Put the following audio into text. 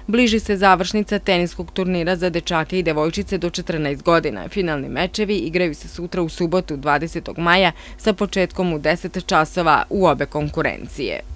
Bliži se završnica teniskog turnira za dečake i devojčice do 14 godina. Finalni mečevi igraju se sutra u subotu 20. maja sa početkom u 10 časova u obe konkurencije.